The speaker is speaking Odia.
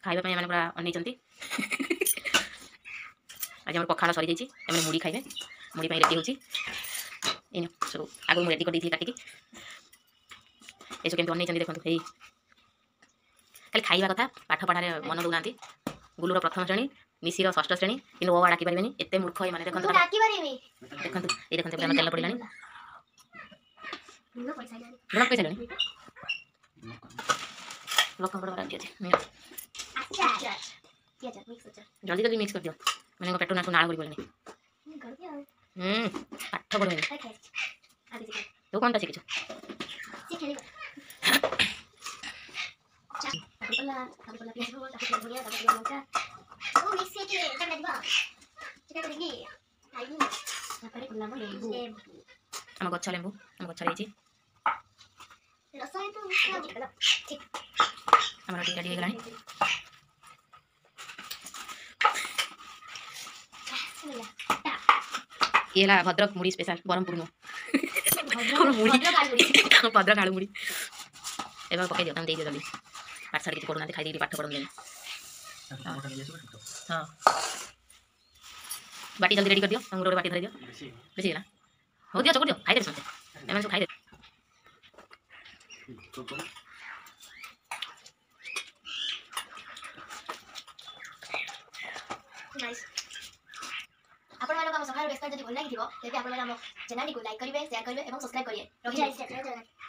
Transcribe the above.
ଖାଇବା ପାଇଁ ଏମାନେ ପୁରା ଅନେଇଛନ୍ତି। ଆଜି ଆମର ପଖାଳ ସରିଯାଇଛି, ଏମାନେ ମୁଢ଼ି ଖାଇବେ। ମୁଢ଼ି ପାଇଁ ରେଡ଼ି ହେଉଛି। ଏଇ ସବୁ ଆଗରୁ ମୁଁ ରେଡ଼ି କରିଦେଇଥିଲି କାଟିକି। ଏସବୁ କେମିତି ଅନେଇଛନ୍ତି ଦେଖନ୍ତୁ। ଏଇ ଖାଲି ଖାଇବା କଥା, ପାଠ ପଢ଼ାରେ ମନ ଦେଉନାହାନ୍ତି। ଗୁଲୁର ପ୍ରଥମ ଶ୍ରେଣୀ, ନିଶିର ଷଷ୍ଠ ଶ୍ରେଣୀ, କିନ୍ତୁ ଅ ଆ ଡାକି ପାରିବେନି। ଏତେ ମୂର୍ଖ ଏମାନେ। ଦେଖନ୍ତୁ, ଦେଖନ୍ତୁ, ଏଇ ଦେଖନ୍ତୁ, ଏବେ ତେଲ ପଡ଼ିଲାଣି। ଲୁଣ ପକାଇ ସାରିଲଣି? ଲଙ୍କା ଅଛି। ଜଲ୍ଦି ଜଲ୍ଦି ମିକ୍ସ କରିଦିଅ। ମାନେ ପେଟ ନାକୁ ନାଳ କରି ପଡ଼ିଲାଣି। ହୁଁ ପାଠ ପଢ଼ୁନି। ତୁ କ'ଣଟା ଶିଖିଛୁ? ଆମ ଗଛ ଲେମ୍ବୁ, ଆମ ଗଛରେ ହେଇଛି। ଆମର ଟିକେ ରେଡ଼ି ହେଇଗଲାଣି। ଇଏ ହେଲା ଭଦ୍ରକ ମୁଢ଼ି ସ୍ପେଶାଲ। ବ୍ରହ୍ମପୁର ନୁହଁ, ମୁଢ଼ି ଭଦ୍ରକ ଆଳୁ ମୁଢ଼ି। ଏବେ ପକେଇ ଦିଅ, ତାଙ୍କୁ ଦେଇଦିଅ ଜଲ୍ଦି। ପାଠ ସାଠ କିଛି ପଢ଼ୁନାହାନ୍ତି, ଖାଇ ଦେଇକି ପାଠ ପଢ଼ନ୍ତିନି। ହଁ, ବାଟି ଜଲ୍ଦି ରେଡ଼ି କରିଦିଅ। ତାଙ୍କୁ ଗୋଟେ ବାଟି ଧରିଦିଅ। ବେଶୀ ହେଇଗଲା? ହଉ ଦିଅ, ଚକୁଟି ଦିଅ, ଖାଇଦେବେ ସମସ୍ତେ। ଏମାନେ ସବୁ ଖାଇଦେବେ। ଆପଣମାନଙ୍କୁ ଆମ ସକାଳ ରେସିପି ଯଦି ଭଲ ଲାଗିଥିବ, ତେବେ ଆପଣମାନେ ଆମ ଚ୍ୟାନେଲଟିକୁ ଲାଇକ୍ କରିବେ, ସେୟାର କରିବେ ଏବଂ ସବସ୍କ୍ରାଇବ୍ କରିବେ। ରହିଛି।